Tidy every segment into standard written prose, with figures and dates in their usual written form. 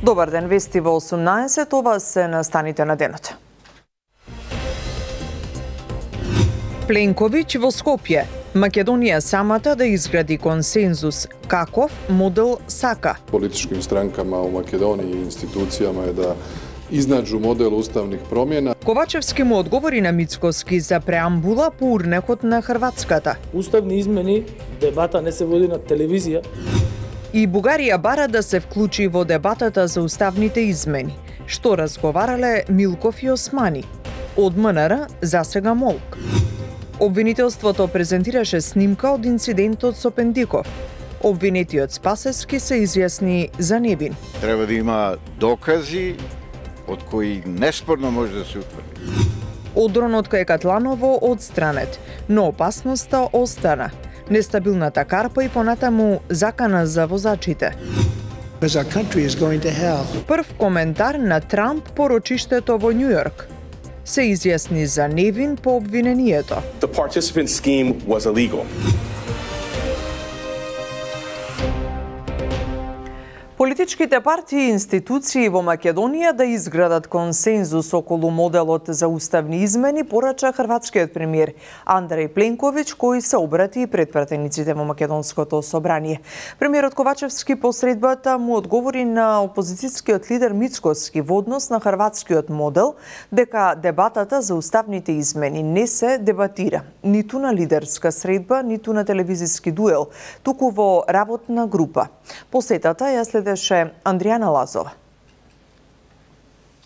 Добар ден, вести во 18, ова се настаните на денот. Пленковиќ во Скопје. Македонија самата да изгради консензус. Каков модел сака? Политичким странкама у Македонија и институцијама е да изнаđу модел уставних промjena. Ковачевски му одговори на Мицкоски за преамбула по урнекот на Хрватската. Уставни измени, дебата не се води на телевизија. И Бугарија бара да се вклучи во дебатата за уставните измени. Што разговарале Милков и Османи? Од МНР засега молк. Обвинителството презентираше снимка од инцидентот со Пендиков. Обвинетиот Спасевски се изјасни за невин. Треба да има докази од кои неспорно може да се утврди. Одронот кај Катланово одстранет, но опасноста остана. Нестабилната карпа и понатаму закана за возачите. Прв коментар на Трамп по рочиштето во Њујорк. Се изјасни за невин по обвинението. The participant scheme was illegal. Политичките партии и институции во Македонија да изградат консензус околу моделот за уставни измени, порача хрватскиот премиер Андреј Пленковиќ, кој се обрати пред пратениците во Македонското собрание. Премиерот Ковачевски по средбата му одговори на опозицијскиот лидер Мицкоски во однос на хрватскиот модел, дека дебатата за уставните измени не се дебатира ниту на лидерска средба, ниту на телевизиски дуел, туку во работна група. Посетата ја следеше Андријана Лазова.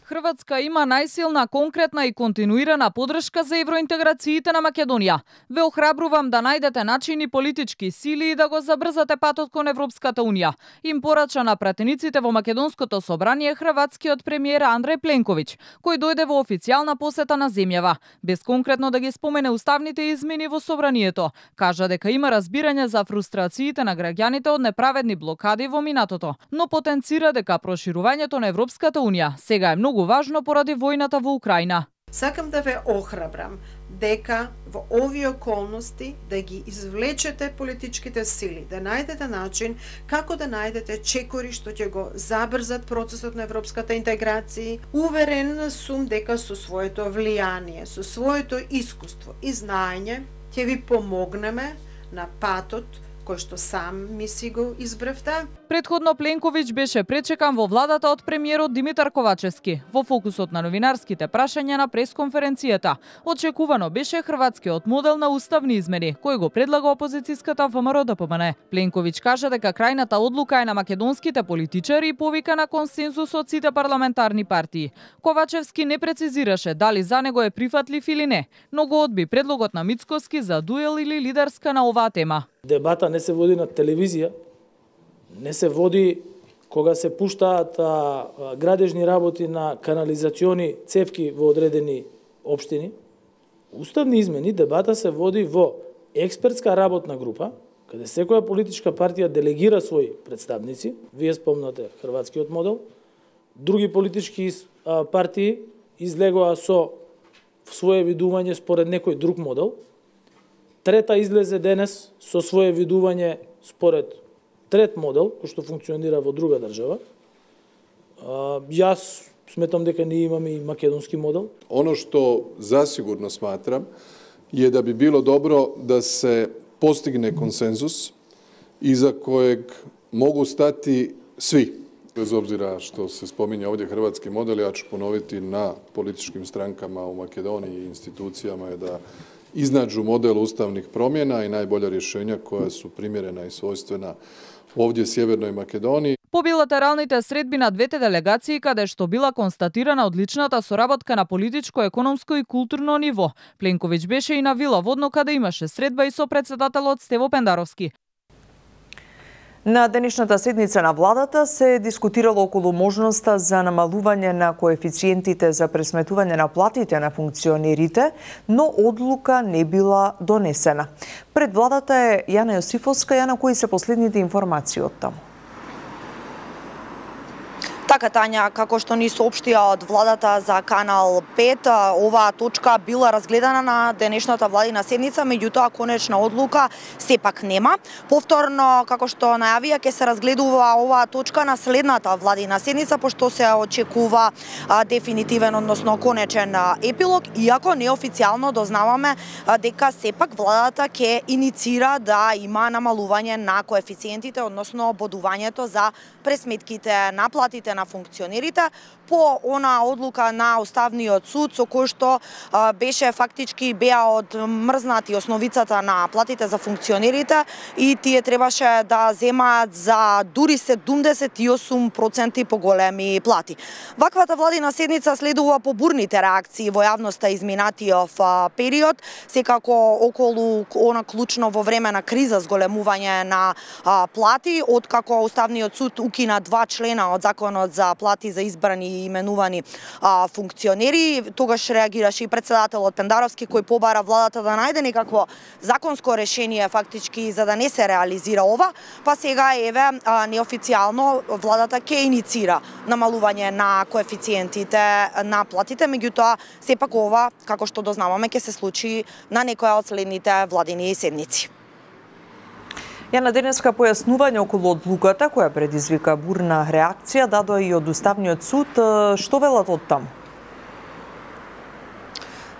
Хрватска има најсилна, конкретна и континуирана поддршка за евроинтеграциите на Македонија. Ве охрабрувам да најдете начини, политички сили и да го забрзате патот кон Европската унија. Им порача на пратениците во Македонското собрание хрватскиот премиер Андреј Пленковиќ, кој дојде во официјална посета на земјава, без конкретно да ги спомене уставните измени во собранието. Кажа дека има разбирање за фрустрациите на граѓаните од неправедни блокади во минатото, но потенцира дека проширувањето на Европската унија сега е многу важно поради војната во Украина. Сакам да ве охрабрам дека во овие околности да ги извлечете политичките сили, да најдете начин како да најдете чекори што ќе го забрзат процесот на европската интеграција. Уверен сум дека со своето влијание, со своето искуство и знаење ќе ви помогнеме на патот кој што сам ми си го избравте. Претходно Пленковиќ беше пречекан во владата од премиерот Димитар Ковачевски. Во фокусот на новинарските прашања на пресконференцијата очекувано беше хрватскиот модел на уставни измени, кој го предлага опозицијската ВМРО-ДПМН. Пленковиќ кажа дека крајната одлука е на македонските политичари и повика на консензус од сите парламентарни партии. Ковачевски не прецизираше дали за него е прифатлив или не, но го одби предлогот на Мицкоски за дуел или лидерска на оваа тема. Дебата не се води на телевизија, не се води кога се пуштаат градежни работи на канализациони цевки во одредени општини. Уставни измени, дебата се води во експертска работна група, каде секоја политичка партија делегира своји представници. Вие спомнате хрватскиот модел. Други политички партии излегоа со своје видување според некој друг модел. Трета излезе денес со своје видување според трет модел, кој што функционира во друга држава. Јас сметам дека ние имаме и македонски модел. Ono što zasigurno smatram je da bi bilo dobro da se postigne konsenzus iza kojeg mogu stati svi. Bez obzira što se spominje ovdje hrvatski model, ja ću ponoviti na političkim strankama u Makedoniji i institucijama je da iznađu model ustavnih promjena i najbolja rješenja koja su primjerena i svojstvena ovdje Sjevernoj Makedoniji. По билатералните средби на двете делегации, каде што била констатирана одличната соработка на политичко, економско и културно ниво, Пленковиќ беше и на Вила Водно, каде имаше средба и со председателот Стево Пендаровски. На денешната седница на владата се дискутирало околу можноста за намалување на коефициентите за пресметување на платите на функционерите, но одлука не била донесена. Пред владата е Јана Јосифовска. Јана, кои се последните информации од таму? Така, Тања, како што ни соопштија од владата за Канал 5, оваа точка била разгледана на денешната владина седница, меѓутоа конечна одлука сепак нема. Повторно, како што најавија, ќе се разгледува оваа точка на следната владина седница, пошто се очекува дефинитивен, односно конечен епилог, иако неофицијално дознаваме дека сепак владата ќе иницира да има намалување на коефициентите, односно бодувањето за пресметките на платите на функционерите по она одлука на Уставниот суд со кој што беше фактички беа одмрзнати основицата на платите за функционерите и тие требаше да земаат за дури 78% поголеми плати. Ваквата владина седница следува по бурните реакции во јавноста изминатиот период, секако околу она клучно во време на криза зголемување на плати, откако Уставниот суд укина 2 члена од законот за плати за избрани и именувани функционери. Тогаш реагираше и председателот Пендаровски, кој побара владата да најде некакво законско решение фактички за да не се реализира ова, па сега еве неофицијално владата ќе иницира намалување на коефициентите на платите, меѓутоа сепак ова, како што дознаваме, ќе се случи на некоја од следните владини седници. Јана, денеска појаснување околу одлуката која предизвика бурна реакција дадоа и од Уставниот суд. Што велат од таму?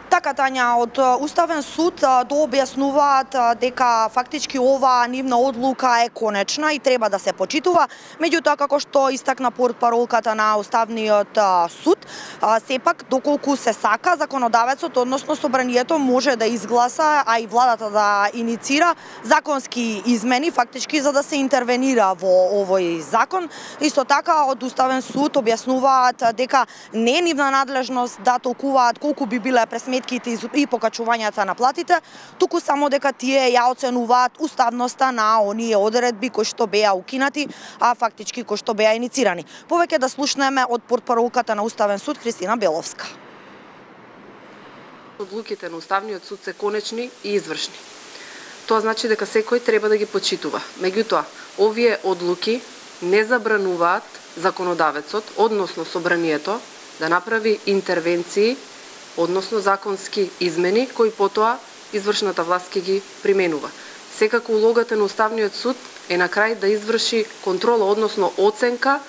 Така, Тања, од Уставен суд дообјаснуваат дека фактички ова нивна одлука е конечна и треба да се почитува, меѓутоа како што истакна портпаролката на Уставниот суд, сепак доколку се сака законодавецот, односно собранието може да изгласа, а и владата да иницира законски измени фактички за да се интервенира во овој закон. Исто така од Уставен суд објаснуваат дека не е нивна надлежност да толкуваат колку би биле пресметките и покачувањата на платите, туку само дека тие ја оценуваат уставноста на оние одредби кои што беа укинати, а фактички кои што беа иницирани. Повеќе да слушнеме од портпаролката на Уставен суд Христина Беловска. Одлуките на Уставниот суд се конечни и извршни. Тоа значи дека секој треба да ги почитува. Меѓутоа, овие одлуки не забрануваат законодавецот, односно собранието, да направи интервенции, односно законски измени, кои потоа извршната власт ќе ги применува. Секако улогата на Уставниот суд е на крај да изврши контрола, односно оценка,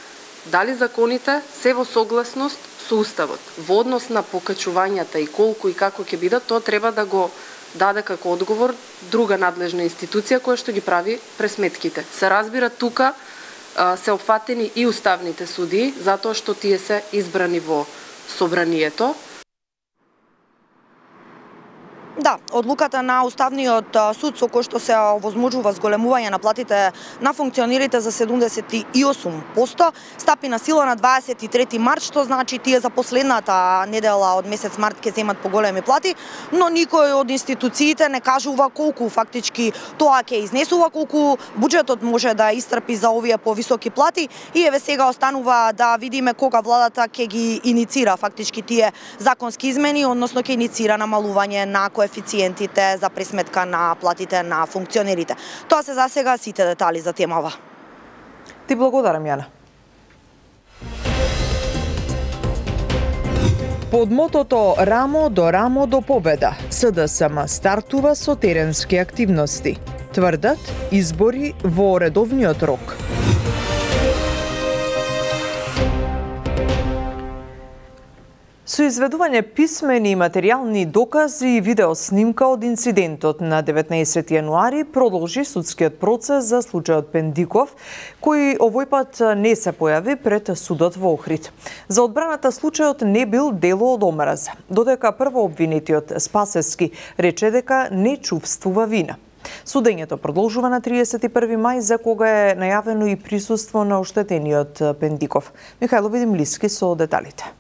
дали законите се во согласност со Уставот. Во однос на покачувањата и колку и како ќе бидат, тоа треба да го даде како одговор друга надлежна институција која што ги прави пресметките. Се разбира, тука се опфатени и уставните судии, затоа што тие се избрани во собранието. Да, одлуката на Уставниот суд со кој што се овозможува зголемување на платите на функционерите за 78% стапи на сила на 23 март, што значи тие за последната недела од месец март ќе земат поголеми плати, но никој од институциите не кажува колку фактички тоа ќе изнесува, колку буџетот може да истрпи за овие повисоки плати и еве сега останува да видиме кога владата ќе ги иницира фактички тие законски измени, односно ќе иницира намалување на коефициентите за пресметка на платите на функционерите. Тоа се засега сите детали за темава. Ти благодарам, Јана. Под мотото Рамо до победа, СДСМ стартува со теренски активности. Тврдат избори во редовниот рок. Со изведување писмени и материјални докази и видеоснимка од инцидентот на 19 јануари продолжи судскиот процес за случајот Пендиков, кој овој пат не се појави пред судот во Охрид. За одбраната случајот не бил дело од омраза, додека првообвинетиот Спасевски рече дека не чувствува вина. Судењето продолжува на 31 мај, за кога е најавено и присуство на оштетениот Пендиков. Михајло Видимлиски со деталите.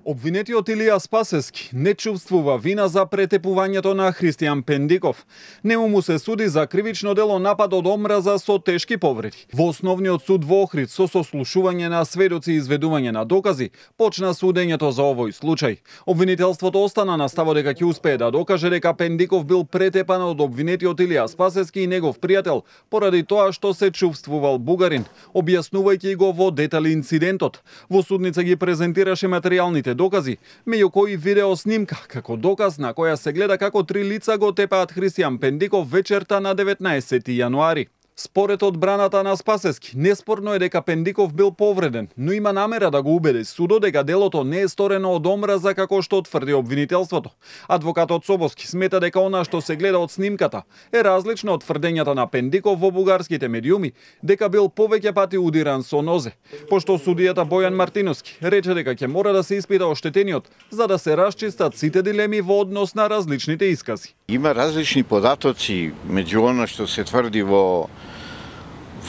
Обвинетиот Илија Спасески не чувствува вина за претепувањето на Христијан Пендиков. Нему му се суди за кривично дело напад од омраза со тешки повреди. Во основниот суд во Охрид со сослушување на сведоци и изведување на докази почна судењето за овој случај. Обвинителството остана на ставот дека ќе успее да докаже дека Пендиков бил претепан од обвинетиот Илија Спасески и негов пријател поради тоа што се чувствувал бугарин, објаснувајќи го во детали инцидентот. Во судница ги презентираше материјалните докази, меѓу кои видео снимка како доказ на која се гледа како 3 лица го тепаат Христијан Пендиков вечерта на 19 јануари. Според одбраната на Спасески, неспорно е дека Пендиков бил повреден, но има намера да го убеди судот дека делото не е сторено од омраза како што тврди обвинителството. Адвокатот Собоски смета дека она што се гледа од снимката е различно од тврдењата на Пендиков во бугарските медиуми дека бил повеќе пати удиран со нозе. Пошто судијата Бојан Мартиновски рече дека ќе мора да се испита оштетениот за да се расчистат сите дилеми во однос на различните искази. Има различни податоци меѓу она што се тврди во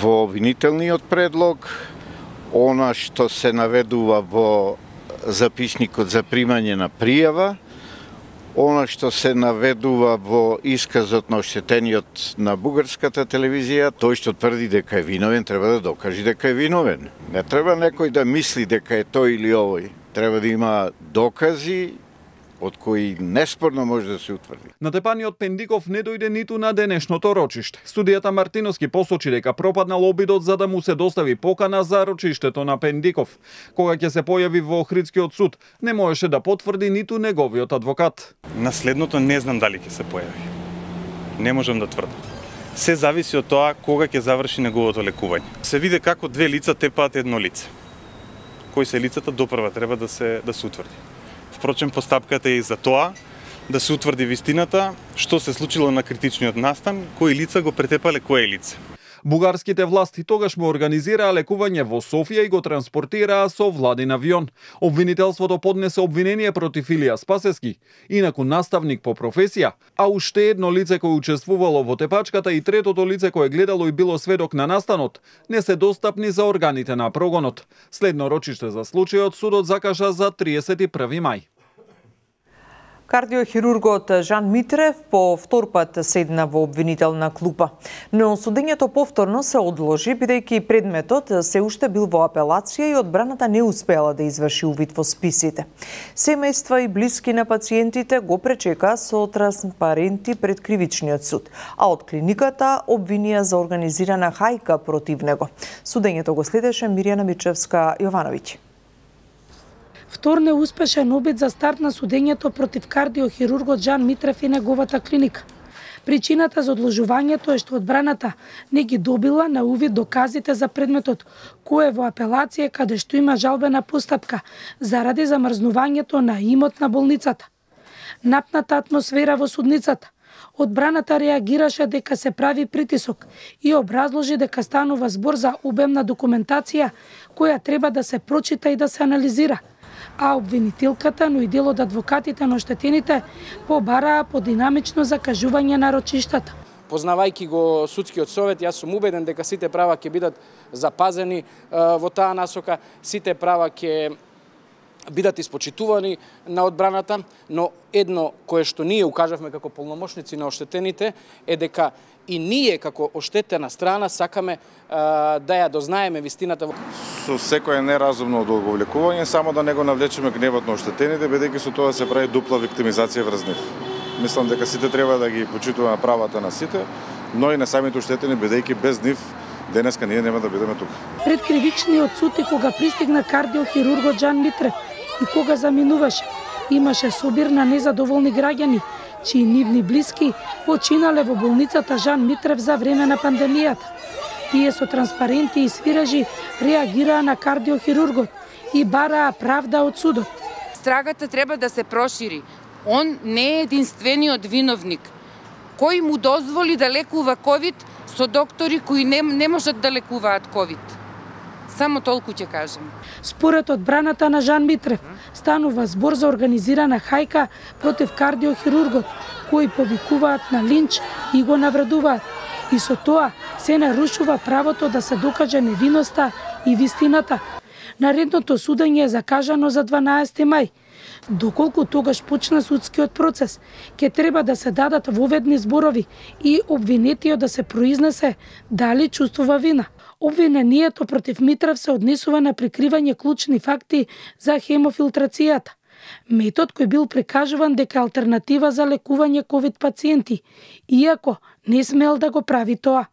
обвинителниот предлог, она што се наведува во записникот за примање на пријава, она што се наведува во исказот на оштетениот на бугарската телевизија. Тој што тврди дека е виновен треба да докаже дека е виновен. Не треба некој да мисли дека е тој или овој. Треба да има докази од кои неспорно може да се утврди. Натепаниот Пендиков не дојде ниту на денешното рочиште. Судијата Мартиновски посочи дека пропаднал обидот за да му се достави покана за рочиштето на Пендиков. Кога ќе се појави во Охридскиот суд, не можеше да потврди ниту неговиот адвокат. Наследното не знам дали ќе се појави. Не можам да тврдам. Се зависи од тоа кога ќе заврши неговото лекување. Се види како 2 лица тепаат едно лице. Кои се лицата допрва треба да се утврди. Впрочем, постапката е и за тоа да се утврди вистината, што се случило на критичниот настан, кои лица го претепале кое лице. Бугарските власти тогаш му организираа лекување во Софија и го транспортираа со владин авион. Обвинителството поднесе обвинение против Илија Спасески, инаку наставник по професија, а уште едно лице кој учествувало во тепачката и третото лице кое гледало и било сведок на настанот, не се достапни за органите на прогонот. Следно рочиште за случајот судот закажа за 31 мај. Кардиохирургот Жан Митрев по втор пат седна во обвинителна клупа, но судењето повторно се одложи бидејќи предметот се уште бил во апелација и одбраната не успела да изврши увид во списите. Семејства и блиски на пациентите го пречека со транспаренти пред кривичниот суд, а од клиниката обвинија за организирана хајка против него. Судењето го следеше Мирјана Мичевска-Јовановиќ. Втор неуспешен обид за старт на судењето против кардиохирургот Жан Митрев и неговата клиника. Причината за одложувањето е што одбраната не ги добила на увид доказите за предметот, кој е во апелација каде што има жалбена постапка заради замрзнувањето на имот на болницата. Напната атмосфера во судницата. Одбраната реагираше дека се прави притисок и образложи дека станува збор за обемна документација која треба да се прочита и да се анализира. А обвинителката, но и дел од адвокатите на оштетените побараа подинамично закажување на рочиштата. Познавајќи го судскиот совет, јас сум убеден дека сите права ќе бидат запазени во таа насока, сите права ќе бидат испочитувани на одбраната, но едно кое што ние укажавме како полномошници на оштетените е дека и ние како оштетена страна сакаме да ја дознаеме вистината. Со секое неразумно одговлекување, само да не го навлечеме гневот на оштетените, бидејќи со тоа се прави дупла виктимизација врз нив. Мислам дека сите треба да ги почитуваме правата на сите, но и на самите оштетени, бидејќи без нив денеска ние нема да бидеме тука. Пред кривичниот суд и кога пристигна кардиохирургот Жан Митрев и кога заминуваше, имаше собир на незадоволни граѓани, чии нивни блиски починале во болницата Жан Митрев за време на пандемијата. Тие со транспаренти и свиражи реагираа на кардиохирургот и бараа правда од судот. Страгата треба да се прошири. Он не е единствениот виновник. Кој му дозволи да лекува ковид со доктори кои не можат да лекуваат ковид? Само толку ќе кажем. Според одбраната на Жан Митрев, станува збор за организирана хајка против кардиохирургот, кои повикуваат на линч и го навредуваат. И со тоа се нарушува правото да се докаже невиноста и вистината. Наредното судење е закажано за 12 мај. Доколку тогаш почна судскиот процес, ќе треба да се дадат воведни зборови и обвинетиот да се произнесе дали чувствува вина. Обвинението против Митрев се однесува на прикривање клучни факти за хемофилтрацијата. Метод кој бил прикажуван дека алтернатива за лекување ковид пациенти, иако не смел да го прави тоа.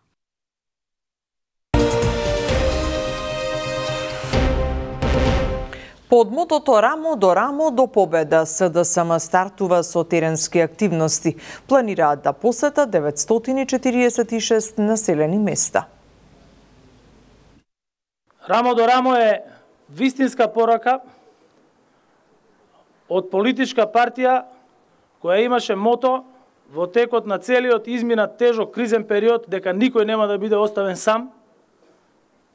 Под мотото рамо до победа СДСМ стартува со теренски активности. Планираат да посетат 946 населени места. Рамо до рамо е вистинска порака од политичка партија која имаше мото во текот на целиот изминат тежок кризен период дека никој нема да биде оставен сам,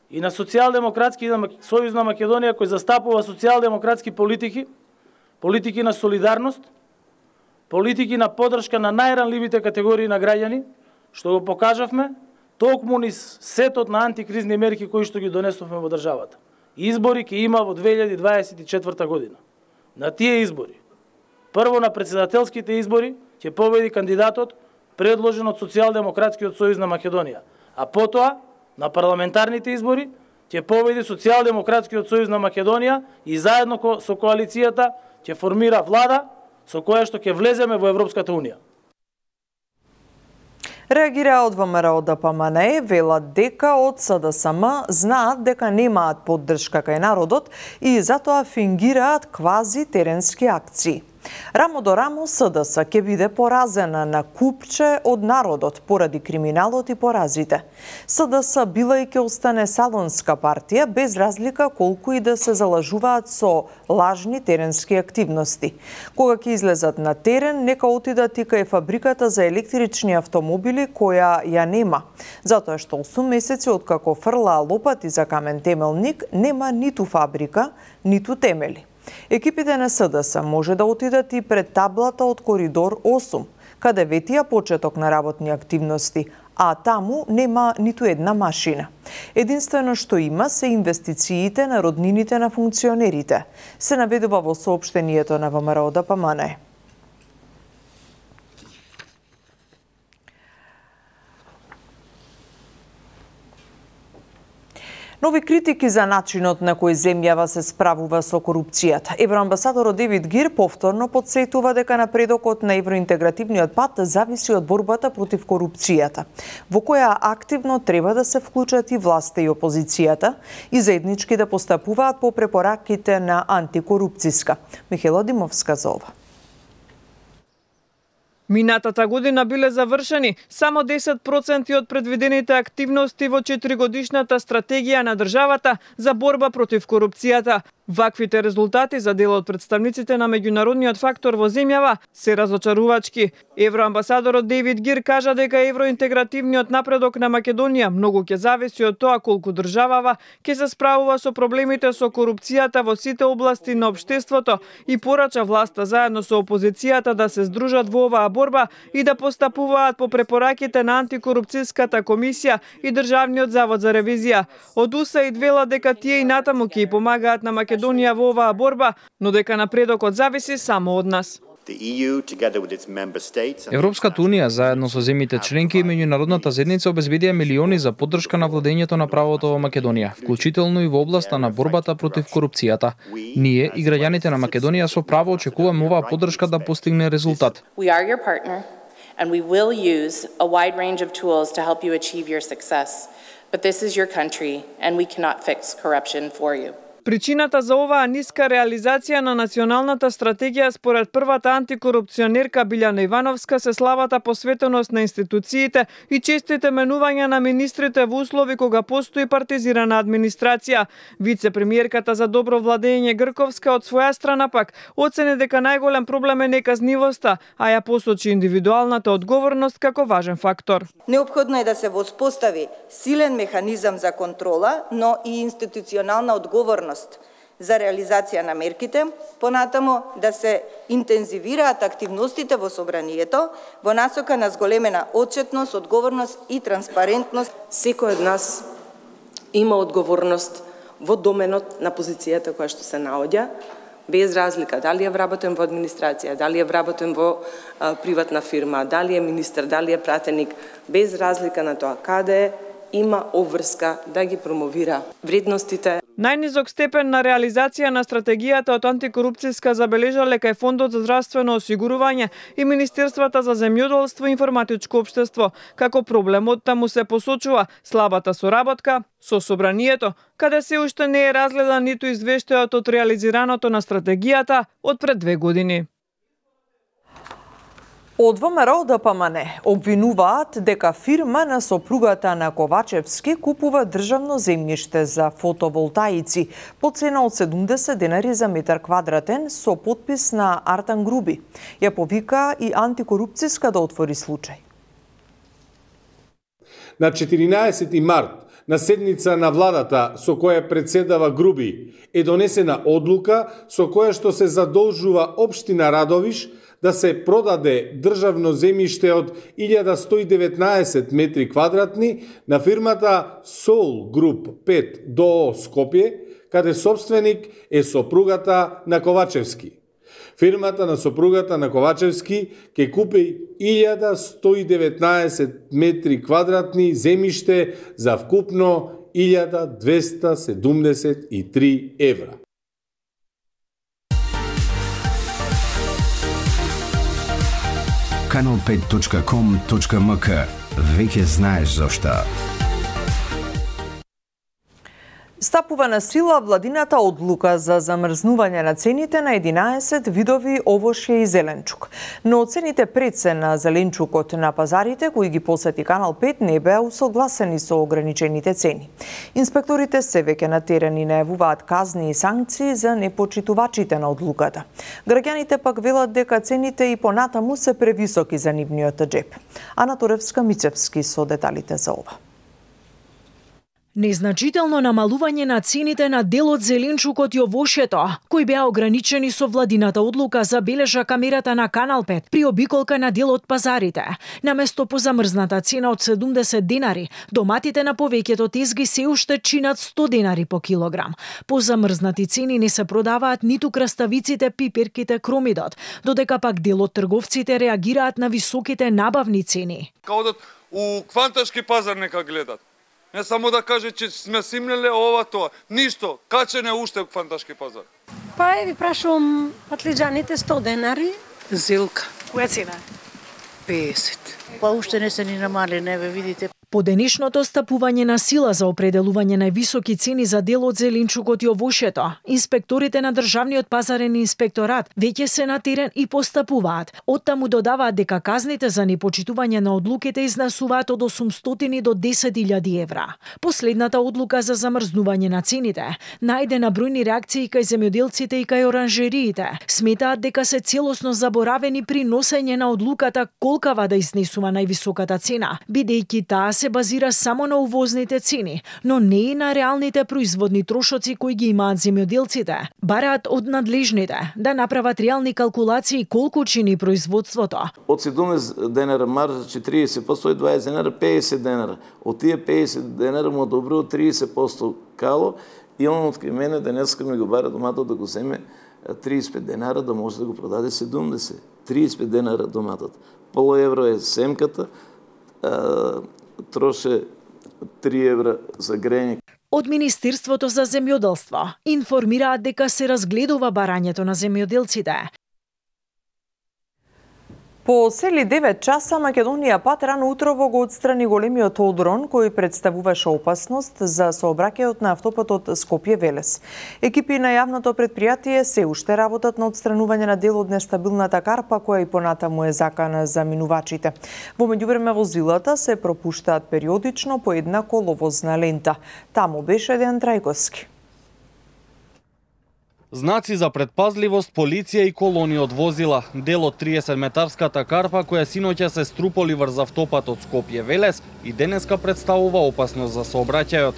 и на Социјалдемократски сојуз на Македонија кој застапува социјалдемократски политики, политики на солидарност, политики на поддршка на најранливите категории на граѓани, што го покажавме токму низ сетот на антикризни мерки кои што ги донесовме во државата. Избори ќе има во 2024 година. На тие избори, прво на претседателските избори, ќе победи кандидатот предложен од Социјалдемократскиот сојуз на Македонија, а потоа на парламентарните избори ќе победи Социјалдемократскиот сојуз на Македонија и заедно со коалицијата ќе формира влада со која што ќе влеземе во Европската унија. Реагираат од ВМРО ДПМНЕ, велат дека од СДСМ знаат дека немаат поддршка кај народот и затоа фингираат квази теренски акции. Рамо до рамо СДС ќе биде поразена на купче од народот поради криминалот и поразите. СДС била и ќе остане салонска партија без разлика колку и да се залажуваат со лажни теренски активности. Кога ќе излезат на терен, нека отидат и кај фабриката за електрични автомобили која ја нема, затоа што 8 месеци откако фрлаа лопати за камен темелник нема ниту фабрика, ниту темели. Екипите на СДС може да отидат и пред таблата од Коридор 8, каде ветија почеток на работни активности, а таму нема ниту една машина. Единствено што има се инвестициите на роднините на функционерите, се наведува во соопштението на ВМРО ДПМНЕ. Нови критики за начинот на кој земјава се справува со корупцијата. Евроамбасадорот Девид Гир повторно потсетува дека напредокот на евроинтегративниот пат зависи од борбата против корупцијата, во која активно треба да се вклучат и власта и опозицијата и заеднички да постапуваат по препораките на антикорупцијска. Михаела Димовска за ова. Минатата година биле завршени само 10% од предвидените активности во 4-годишната стратегија на државата за борба против корупцијата. Ваквите резултати за дел од представниците на меѓународниот фактор во земјава се разочарувачки. Евроамбасадорот Дейвид Гир кажа дека евроинтегративниот напредок на Македонија многу ќе зависи од тоа колку државава ќе се справува со проблемите со корупцијата во сите области на општеството и порача власта заедно со опозицијата да се здружат во оваа борба и да постапуваат по препораките на антикорупцијската комисија и Државниот завод за ревизија. Од УСАИД вела дека тие и натаму ќе помагаат на Македонија во оваа борба, но дека напредокот зависи само од нас. Европската унија заедно со земјите членки и меѓународната заедница обезбедија милиони за поддршка на владењето на правото во Македонија, вклучително и во областа на борбата против корупцијата. Ние и граѓаните на Македонија со право очекуваме оваа поддршка да постигне резултат. And we will use a wide range of tools to help you achieve your success. But this is your country and we cannot fix corruption for you. Причината за оваа ниска реализација на националната стратегија според првата антикорупционерка Билјана Ивановска се слабата посветеност на институциите и честите менувања на министрите во услови кога постои партизирана администрација. Вице-премиерката за добро владење Грковска од своја страна пак оцени дека најголем проблем е неказнивоста, а ја посочи индивидуалната одговорност како важен фактор. Неопходно е да се воспостави силен механизам за контрола, но и институционална одговорност за реализација на мерките, понатаму да се интензивираат активностите во собранието во насока на зголемена отчетност, одговорност и транспарентност. Секој од нас има одговорност во доменот на позицијата која што се наоѓа, Без разлика дали е вработен во администрација, дали е вработен во приватна фирма, дали е министер, дали е пратеник, без разлика на тоа каде има обврска да ги промовира вредностите. Најнизок степен на реализација на стратегијата од антикорупцијска забележале кај Фондот за здравствено осигурување и Министерствата за земјоделство и информатичко општество. Како проблемот таму се посочува слабата соработка со собранието, каде се уште не е разгледан ниту извештајот од реализираното на стратегијата од пред 2 години. Од ВМРО ДПМН обвинуваат дека фирма на сопругата на Ковачевски купува државно земјиште за фотоволтаици по цена од 70 денари за метар квадратен со подпис на Артан Груби. Ја повика и антикорупцијска да отвори случај. На 14 март, на седница на владата со која председава Груби, е донесена одлука со која што се задолжува општина Радовиш да се продаде државно земјиште од 1119 метри квадратни на фирмата Soul Group 5 ДОО Скопје, каде собственик е сопругата на Ковачевски. Фирмата на сопругата на Ковачевски ќе купи 1119 метри квадратни земјиште за вкупно 1273 евра. Kanal5.com.mk. Веќе знаеш зошто. Стапува на сила владината одлука за замрзнување на цените на 11 видови овошје и зеленчук. Но цените прецена зеленчукот на пазарите кои ги посети Канал 5 не беа усогласени со ограничените цени. Инспекторите се веќе на терен и најавуваат казни и санкции за непочитувачите на одлуката. Граѓаните пак велат дека цените и понатаму се превисоки за нивниот џеп. Ана Торевска-Мицевски со деталите за ова. Незначително намалување на цените на дел од зеленчукот и овошјето, кои беа ограничени со владината одлука, забележа камерата на Канал 5 при обиколка на дел од пазарите. Наместо по замрзната цена од 70 денари, доматите на повеќето тезги се уште чинат 100 денари по килограм. По замрзнати цени не се продаваат ниту краставиците, пиперките, кромидот, додека пак дел од трговците реагираат на високите набавни цени. Као у кванташки пазар нека гледат. Не само да каже че сме симнеле ова тоа. Ништо, качене уште у фанташки пазар. Па ви прашувам патлиџаните 100 денари. Зилка. Која цена? 50. Па уште не се ни намали, не ве видите. По денешното стапување на сила за определување највисоки цени за дел од зеленчукот и овошјето, инспекторите на Државниот пазарен инспекторат веќе се на терен и постапуваат. Оттаму додаваат дека казните за непочитување на одлуките изнесуваат од 800 до 10.000 евра. Последната одлука за замрзнување на цените најде на бројни реакции кај земјоделците и кај оранжериите. Сметаат дека се целосно заборавени при носење на одлуката колкава да изнесува највисоката цена, бидејќи таа се базира само на увозните цени, но не и на реалните производни трошоци кои ги имаат земјоделците. Бараат од надлежните да направат реални калкулации колку чини производството. Од 17 денара маржа 40%, 20 денара 50 денара. Од тие 50 денара му одобрил 30% кало и он од кај мене денеска ми го бара доматот да го земе 35 денара да може да го продаде 70. 35 денара доматот. Поло евро е семката, троше 3 евра за грење. Од Министерството за земјоделство информираат дека се разгледува барањето на земјоделците. По цели 9 часа Македонија пат рано утрово го отстрани големиот одрон кој представуваше опасност за сообраќајот на автопатот Скопје-Велес. Екипи на јавното предпријатие се уште работат на отстранување на дел од нестабилната карпа која и понатаму е закана за минувачите. Во меѓувреме возилата се пропуштаат периодично по една коловозна лента. Таму беше Дејан Трајковски. Знаци за предпазливост, полиција и колони од возила. Дел од 30-метарската карпа која синоќа се струполи врз автопатот Скопје-Велес и денеска представува опасност за сообраќајот.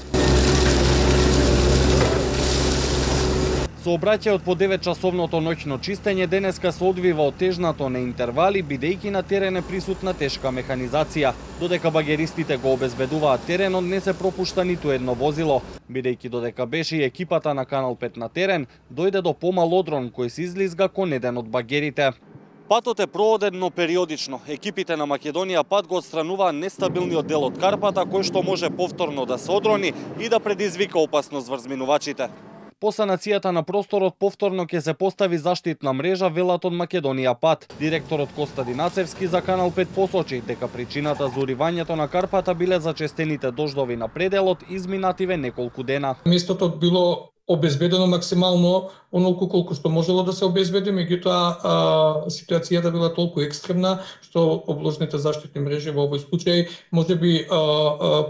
Сообраќајот по 9-часовното ноќно чистење денеска се одвива отежнато на интервали, бидејќи на терен е присутна тешка механизација. Додека багеристите го обезбедуваат теренот, не се пропушта ниту едно возило. Бидејќи додека беше и екипата на Канал 5 на терен, дојде до помал одрон кој се излизга кон еден од багерите. Патот е прооден, но периодично. Екипите на Македонија пат го отстрануваа нестабилниот дел од карпата, кој што може повторно да се одрони и да предизвика опасност врз минувачите. По санацијата на просторот повторно ќе се постави заштитна мрежа, велат од Македонија пат. Директорот Коста Динацевски за Канал 5 посочи дека причината за уривањето на карпата биле зачестените дождови на пределот изминативе неколку дена. Местото било обезбедено максимално онолку колку што можело да се обезбеди, меѓутоа ситуацијата била толку екстремна што обложните заштитни мрежи во овој случај можеби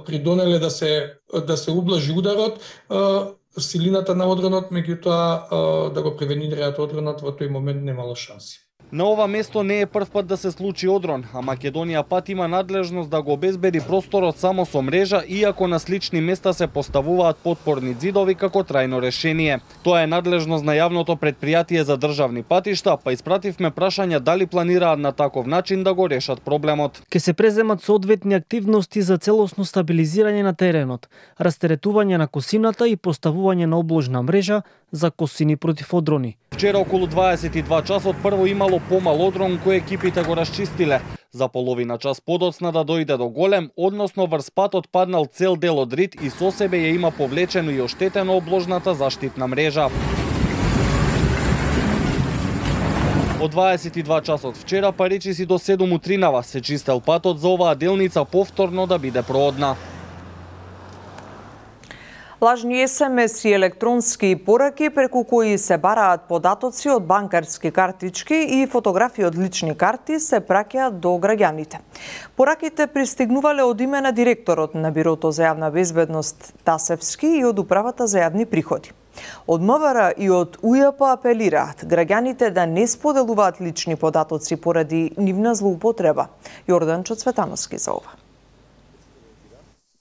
придонеле да се ублажи ударот, силината на одронот, меѓутоа да го превенираат одронот во тој момент немало шанси. На ова место не е прв пат да се случи одрон, а Македонија пат има надлежност да го обезбеди просторот само со мрежа, иако на слични места се поставуваат потпорни ѕидови како трајно решение. Тоа е надлежност на јавното претпријатие за државни патишта, па испративме прашања дали планираат на таков начин да го решат проблемот. Ке се преземат соодветни активности за целосно стабилизирање на теренот, растеретување на косината и поставување на обложна мрежа за косини против одрони. Вчера околу 22 часот прво имало помал одрон кој екипите го расчистиле. За половина час подоцна да дојде до голем, односно врз патот паднал цел дел од рид и со себе ја има повлечено и оштетено обложната заштитна мрежа. Од 22 часот вчера па речиси до 7 утринава се чистел патот за оваа делница повторно да биде проодна. Лажни СМС и електронски пораки преку кои се бараат податоци од банкарски картички и фотографии од лични карти се праќаат до граѓаните. Пораките пристигнувале од име на директорот на Бирото за јавна безбедност Тасевски и од Управата за јавни приходи. Од МВР и од УЈП апелираат граѓаните да не споделуваат лични податоци поради нивна злоупотреба. Јорданчо Цветановски за ова.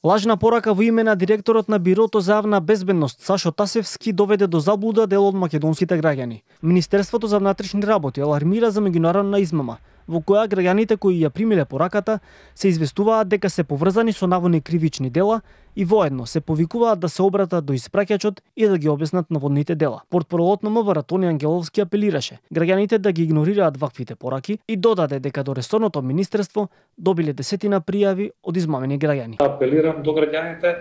Лажна порака во име на директорот на Бирото за јавна безбедност Сашо Тасевски доведе до заблуда дел од македонските граѓани. Министерството за внатрешни работи алармира за меѓународна измама, во која граѓаните кои ја примиле пораката се известуваат дека се поврзани со наводни кривични дела и воедно се повикуваат да се обратат до испраќачот и да ги објаснат наводните дела. Портпаролот на МВР Тони Ангеловски апелираше граѓаните да ги игнорираат ваквите пораки и додаде дека до ресорното министерство добиле десетина пријави од измамени граѓани. Апелирам до граѓаните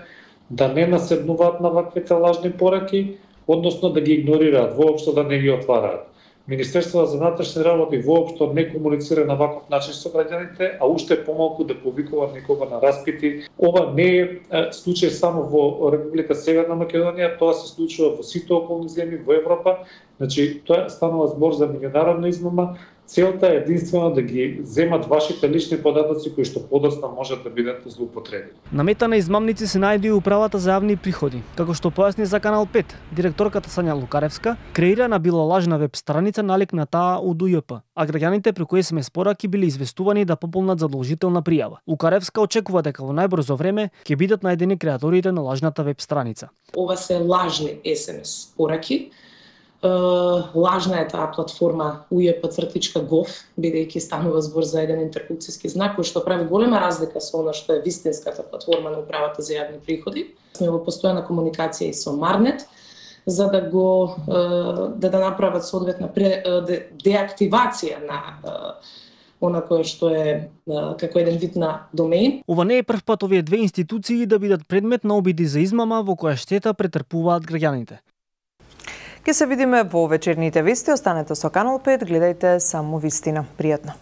да не наседнуваат на ваквите лажни пораки, односно да ги игнорираат, воопшто да не ги отвараат. Министерството за внатрешни работи воопшто не комуницира на ваков начин со граѓаните, а уште помалку да повикува некога на распити. Ова не е случај само во Република Северна Македонија, тоа се случува во сите околни земји во Европа. Значи, тоа станува збор за меѓународна измама. Целта е единствено да ги земат вашите лични податоци кои што подоцна можат да бидат злоупотребени. На мета на измамници се најде и Управата за јавни приходи. Како што појасни за Канал 5, директорката Сања Лукаревска, креирана била лажна веб страница налик на таа од УЈП, а граѓаните преку СМС пораки биле известувани да пополнат задолжителна пријава. Лукаревска очекува дека во најбрзо време ќе бидат најдени креаторите на лажната веб страница. Ова се лажни СМС пораки. Лажна е таа платформа ujp.gov, бидејќи станува збор за еден интерпункцијски знак кој што прави голема разлика со она што е вистинската платформа на Управата за јавни приходи. Сме во постојана комуникација и со Марнет за да го да направат соодветна деактивација на она кое што е како еден вид на домеин. Ова не е прв пат овие две институции да бидат предмет на обиди за измама во која штета претрпуваат граѓаните. Ке се видиме во вечерните вести. Останете со Канал 5, гледајте само вистина. Пријатно.